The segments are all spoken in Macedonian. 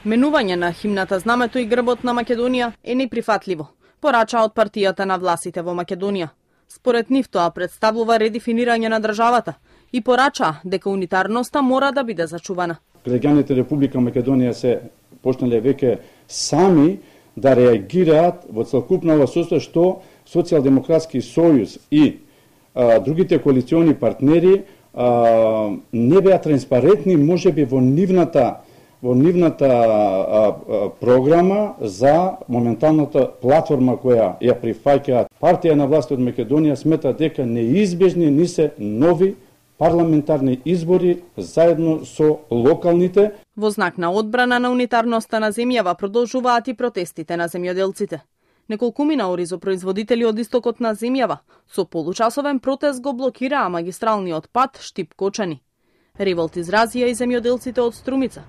Менување на химната, знамето и грбот на Македонија е неприфатливо, порача од партијата на властите во Македонија. Според нив тоа представува редефинирање на државата и порача дека унитарноста мора да биде зачувана. Граѓаните Република Македонија се почнале веќе сами да реагираат во целокупна состојба што Социјалдемократски сојуз и другите коалициони партнери не беа транспарентни можеби во нивната програма за моменталната платформа која ја прифаќаат. Партија на власт од Македонија смета дека неизбежни ни се нови парламентарни избори заедно со локалните. Во знак на одбрана на унитарноста на земјава продолжуваат и протестите на земјоделците. Неколкумина оризопроизводители од истокот на земјава со получасовен протест го блокираа магистралниот пат Штип-Кочани. Револт изразија и земјоделците од Струмица.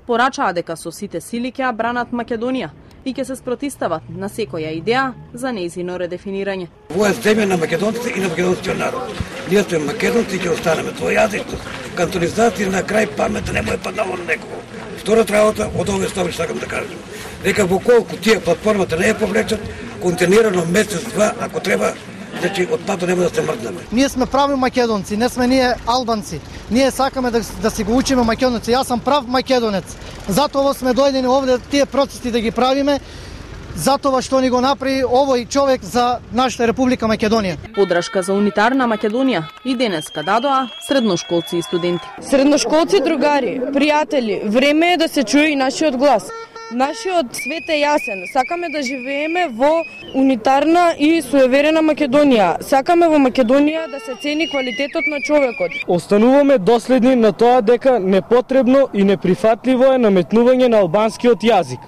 Порачаа дека со сите сили ќе бранат Македонија и ќе се спротистават на секоја идеја за нејзино редефинирање. Во е земја на македонците и на македонскиот народ. Ние сме македонци и ќе останеме. Тоа јазичност, кантонизација на крај памета не му е паднало на некого. Втората работа од овие стави сакам да кажам. Дека во колку тие платформата не ја повлечат, континирано месец-два, ако треба, значи од пато нема да се мрднеме. Ние сме прави македонци, не сме ние албанци. Ние сакаме да си го учиме македонци. Јас сум прав македонец. Затоа сме дојдени овде тие процеси да ги правиме, затоа што ни го направи овој човек за нашата Република Македонија. Подршка за унитарна Македонија и денеска дадоа средношколци и студенти. Средношколци, другари, пријатели, време е да се чуе и нашиот глас. Нашиот свет е јасен. Сакаме да живееме во унитарна и суеверена Македонија. Сакаме во Македонија да се цени квалитетот на човекот. Остануваме доследни на тоа дека непотребно и неприфатливо е наметнување на албанскиот јазик.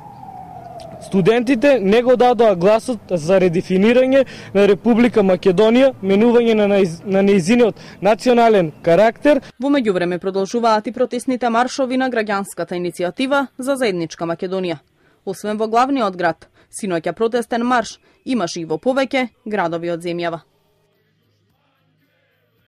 Студентите не го дадоа гласот за редефинирање на Република Македонија, менување на нејзиниот национален карактер. Во меѓувреме продолжуваат и протестните маршови на граѓанската иницијатива за заедничка Македонија. Освен во главниот град, синоќа протестен марш имаше и во повеќе градови од земјава.